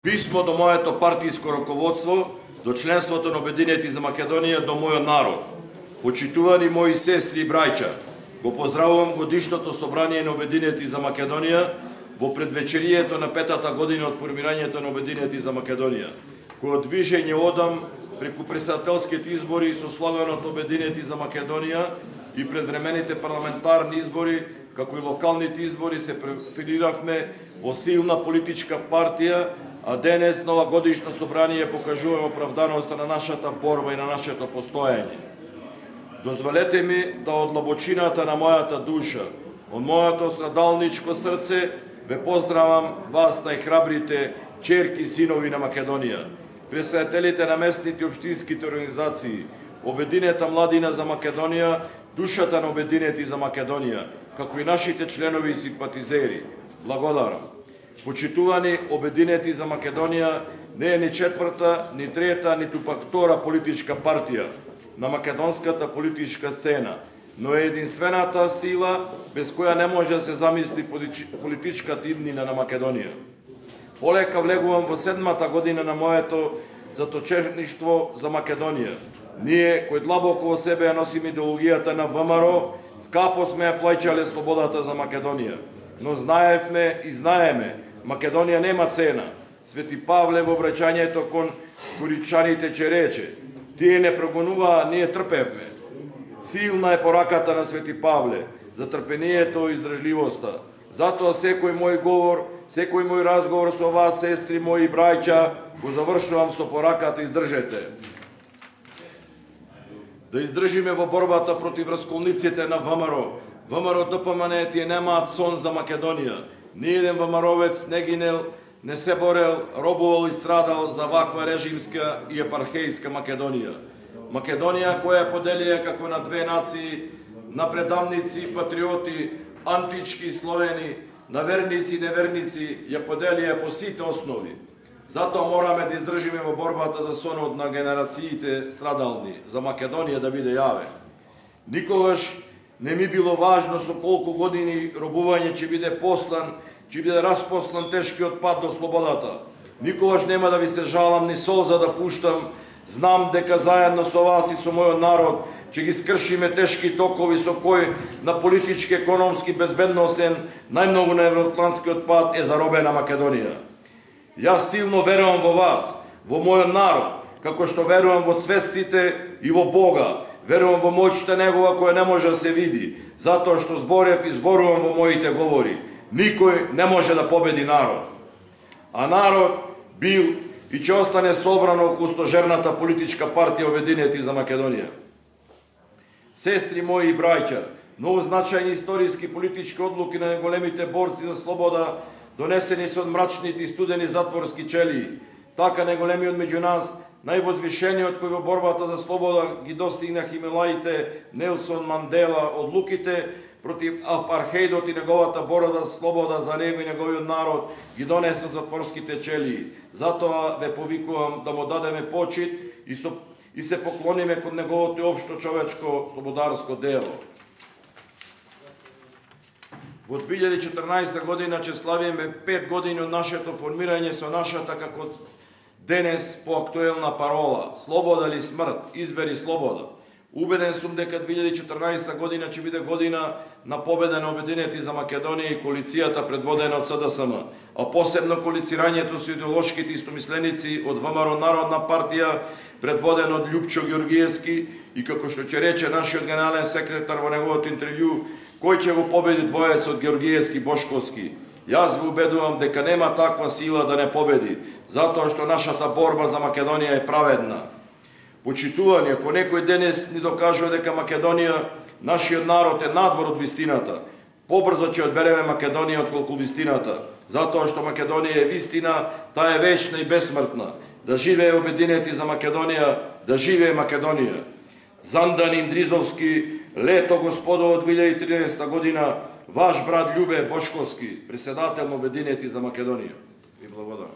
Писмо до моето партиско раководство, до членството на Обединети за Македонија, до мојот народ. Почитувани мои сестри и браќа, го поздравувам годишното собрание на Обединети за Македонија во предвечерието на 5-та година од формирањето на Обединети за Македонија, кој движење одам преку председателските избори со славеното Обединети за Македонија и предвремените парламентарни избори, како и локалните избори, се профилиравме во силна политичка партија, а денес на ова годишно собрание покажуваме оправданоста на нашата борба и на нашето постоење. Дозволете ми да од длабочината на мојата душа, од мојато страдалничко срце, ве поздравам вас, најхрабрите черки и синови на Македонија, председателите на местните и општинските организации, Обединета младина за Македонија, душата на Обединети за Македонија, како и нашите членови и симпатизери. Благодарам. Почитувани Обединети за Македонија не е ни четврта, ни трета, ниту пак втора политичка партија на македонската политичка сцена, но е единствената сила без која не може да се замисли политичката иднина на Македонија. Полека влегувам во 7-та година на моето заточеништво за Македонија. Ние, кои длабоко во себе ја носиме идеологијата на ВМРО, скапо сме ја плаќале слободата за Македонија. Но знаевме и знаеме, Македонија нема цена. Свети Павле во обраќањето кон коричаните ќе рече: тие не прогонуваа, ние трпевме. Силна е пораката на Свети Павле за трпението и издржливоста. Затоа секој мој говор, секој мој разговор со вас, сестри мои и браќа, го завршувам со пораката: издржете. Да издржиме во борбата против расколниците на ВМРО. ВМРО ДПМН тие немаат сон за Македонија. Ниеден ВМРО-вец не гинел, не се борел, робувал и страдал за ваква режимска и епархејска Македонија. Македонија која поделија како на две нации, на предавници и патриоти, антички и словени, на верници и неверници, ја поделија по сите основи. Затоа мораме да издржиме во борбата за сонот на генерациите страдални, за Македонија да биде јавен. Никогаш не ми било важно со колку години робување ќе биде послан, ќе биде распослан тешкиот пат до слободата. Никогаш нема да ви се жалам ни солза да пуштам. Знам дека заедно со вас и со мојот народ ќе ги скршиме тешки токови со кој на политички, економски, безбедносен, најмногу на евроатлантскиот пат е заробена Македонија. Јас силно верувам во вас, во мојот народ, како што верувам во цвесците и во Бога. Верувам во моќта Негова која не може да се види, затоа што зборев и зборувам во моите говори. Никој не може да победи народ. А народ бил и ќе остане собран околу стожерната политичка партија Обединети за Македонија. Сестри мои и браќа, многу значајни историски политички одлуки на големите борци за слобода, донесени со мрачните и студени затворски челии. Така најголемиот меѓу нас, највозвишениот кој во борбата за слобода ги достигна Хималаите, Нелсон Мандела, одлуките против апархејдот и неговата борба за слобода за него и неговиот народ ги донесе затворските челии. Затоа ве повикувам да му дадеме почит и се поклониме кон неговото општо човечко слободарско дело. Во 2014 година ќе славиме 5 години од нашето формирање со нашата како денес поактуелна парола: слобода или смрт, избери слобода. Убеден сум дека 2014 година ќе биде година на победа на Обединети за Македонија и коалицијата предводена од СДСМ, а посебно коалицирањето со идеолошките истомисленици од ВМРО Народна партија, предводен од Љупчо Ѓоргиевски, и како што ќе рече нашиот генерален секретар во неговото интервју, кој ќе го победи двојецот Ѓоргиевски Бошковски. Јас ве убедувам дека нема таква сила да не победи, затоа што нашата борба за Македонија е праведна. Почитувани, ако некој денес ни докажува дека Македонија, нашиот народ е надвор од вистината, побрзо ќе одбереме Македонија отколку вистината, затоа што Македонија е вистина, таа е вечна и бесмртна. Да живее Обединети за Македонија, да живее Македонија. Зандан Индризовски, лето господово 2013 година, ваш брат Љубе Бошковски, председател на Обединети за Македонија. Ви благодарам.